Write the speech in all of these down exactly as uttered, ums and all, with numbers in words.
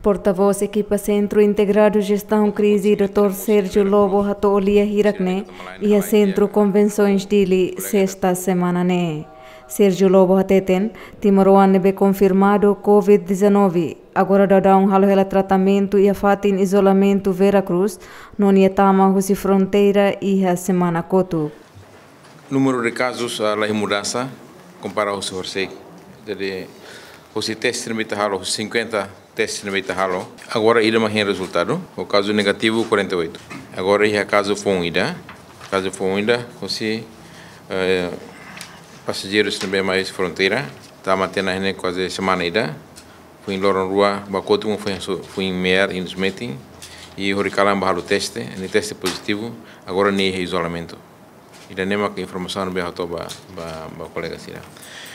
Portavós ekipa Sentru Integradu Jestaun Krize, doutór Sérgio Lobo, hato'o lia hirak ne'e iha Sentru Konvensoens Dili, sesta semana ne'e. Sérgio Lobo hateten, timoroan ne'ebé konfirmadu covid dezanove, agora daudaun halo hela tratamentu iha fatin izolamentu Vera Cruz, no nia tama husi fronteira iha semana kotuk. Númeru de kazus, ah, la iha mudansa, kompara husi horisehik. Jadi, husi teste ne'ebé ita halo, husi cinquenta teste ne'ebé ita halo, agora ida mak hein rezultadu, ho kazu negativu quarenta e oito. Agora iha kazu foun ida, kazu foun ida, husi, eh, pasajeirus ne'ebé mai fronteira, tama tiha ona iha ne'e kuaze semana ida, foin loron rua, ba kotuk foin su-, foin me'ar iha Smetin, i horikalan bá halo teste, nia teste pozitivu, agora nia iha izolamentu. Ida-ne'e mak informasaun ne'ebé hato'o ba, ba, ba kolega sira.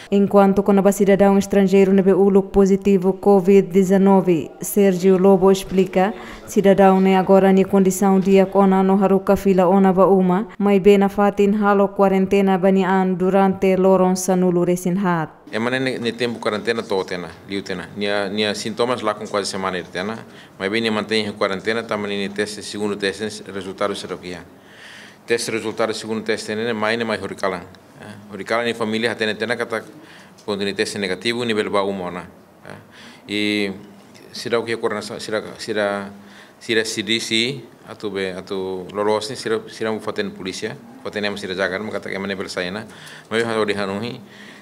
Enkuantu kona-ba sidadaun estranjeiru ne'ebé uluk pozitivu covid dezanove, Sérgio Lobo esplika, sidadaun ne'e agora nia kondisaun di'ak ona no haruka fila ona ba uma, maibé nafatin halo kuarentena ba nia an durante loron sanulu-resin-haat. Ema ne'e, nia tempu kuarentena to'o tiha ona, liu tiha ona. Nia, nia sintomas lakon kuaze semana ida tiha ona, maibé nia mantein iha kuarentena, tanba nia teste, segundu teste, rezultadu seidauk iha. Teste, rezultadu segundu teste ne'e mai, ne'e mai horikalan. Eh, horikalan nia família hatene tiha ona katak, kuandu nia teste negativu, nia bele bá uma ona. Eh, i seidauk iha koordenasaun, sira, sira, sira C D C, atu be, atu loloos ne'e, sira, sira fó-hatene polísia, fó-hatene ema sira jaga, mak katak ema ne'e bele sai ona. Maibé ha'u hanoin,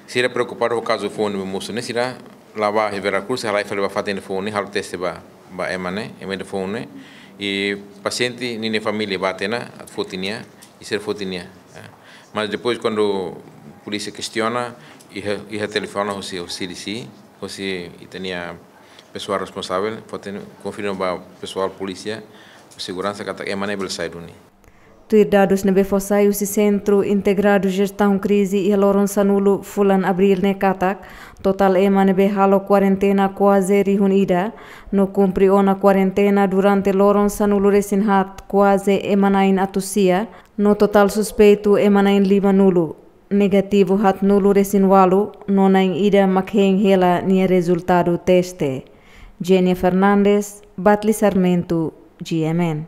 sira preokupadu ho kazu foun ne'ebé mosu ne'e, sira la'o ba Vera Cruz, halai fali ba fatin foun ne'e, halo teste ba, ba ema ne'e, ema ne'e foun ne'e. I pasiente ninia família bá tiha ona, atu foti nia, i sira foti nia. Eh. Mas depois, kuandu polísia kestiona, iha, iha telefone husi, husi C D C, husi ita-nia pesoál responsavel, fó-hatene, konfirma ba pesoál polísia, seguransa katak ema ne'e bele sai duni. Tuir dadus ne'ebé fó sai husi Sentru Integradu Jestaun Krize iha loron sanulu fulan Abríl ne'e katak, totál ema ne'ebé halo kuarentena kuaze rihun ida, no kumpre ona kuarentena durante loron sanulu-resin-haat kuaze ema na'in atus sia, no totál suspeitu ema na'in limanulu, negativu haatnulu-resin-ualu, no na'in ida mak hein hela nia rezultadu teste. Jenia Fernandes, Batli Sarmento, G M N.